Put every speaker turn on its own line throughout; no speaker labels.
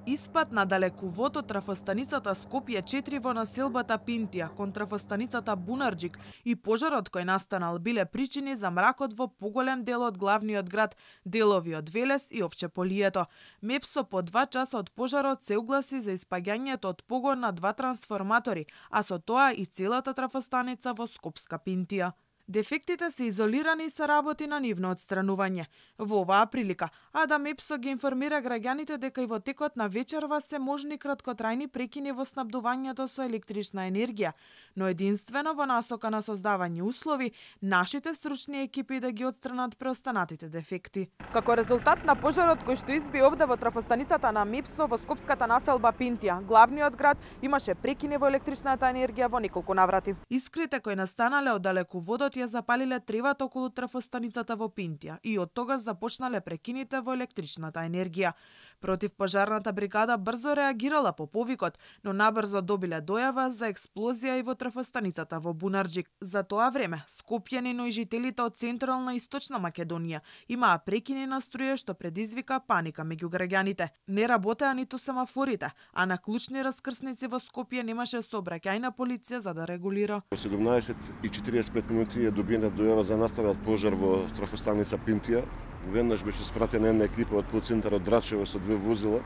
Испад на далековод од трафостаницата Скопје 4 во населбата Пинтија кон трафостаницата Бунарџик и пожарот кој настанал биле причини за мракот во поголем дел од главниот град, делови од Велес и Овчеполието. МЕПСО по 2 часа од пожарот се угласи за испаѓањето од погон на 2 трансформатори, а со тоа и целата трафостаница во Скопска Пинтија. Дефектите се изолирани и се работи на нивно отстранување. Во оваа прилика, Адам ЕПСО ги информира граѓаните дека и во текот на вечерва се можни краткотрајни прекини во снабдувањето со електрична енергија, но единствено во насока на создавање услови нашите стручни екипи да ги отстранат преостанатите дефекти. Како резултат на пожарот кој што изби овде во трафостаницата на МЕПСО во скопската населба Пинтија, главниот град имаше прекини во електричната енергија во неколку наврати. Искрите кои настанале од далеководот ја запалиле тревата околу трафостаницата во Пинтија и од тогаш започнале прекините во електричната енергија. Противпожарната бригада брзо реагирала по повикот, но набрзо добиле дојава за експлозија и во трафостаницата во Бунарџик. За тоа време, скопјани, но и жителите од Централна и Источна Македонија имаа прекини на струја што предизвика паника меѓу граѓаните. Не работеа ниту семафорите, а на клучни раскрсници во Скопје немаше сообраќајна полиција за да регулира.
Во 17:45 минути е добиена дојава за настанат пожар во трафостаница Пинтија. Веднаш беше спратена една екипа од подцентарот Драчево со 2 возила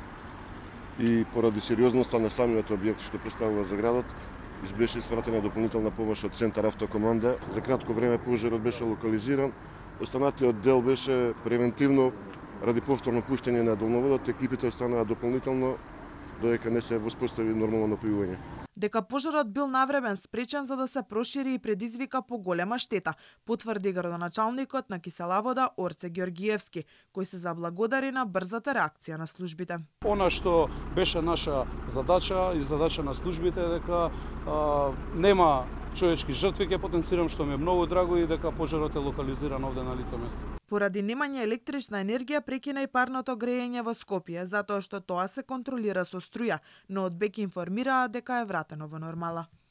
и поради сериозноста на самиот објект што представува за градот, беше испратена дополнителна помош од Центар Автокоманда. За кратко време пожарот беше локализиран. Останатиот дел беше превентивно ради повторно пуштање на долноводот. Екипите останаа дополнително додека не се воспостави нормално напојување.
Дека пожарот бил навремен спречен за да се прошири и предизвика поголема штета, потврди градоначалникот на Киселавода Орце Ѓоргиевски, кој се заблагодари на брзата реакција на службите.
Она што беше наша задача и задача на службите е дека нема човечки жртви, ќе потенцирам, што ми е многу драго, и дека пожарот е локализиран овде на лице место.
Поради немање електрична енергија прекина и парното грејење во Скопје, затоа што тоа се контролира со струја, но од БЕК информираа дека е вратено во нормала.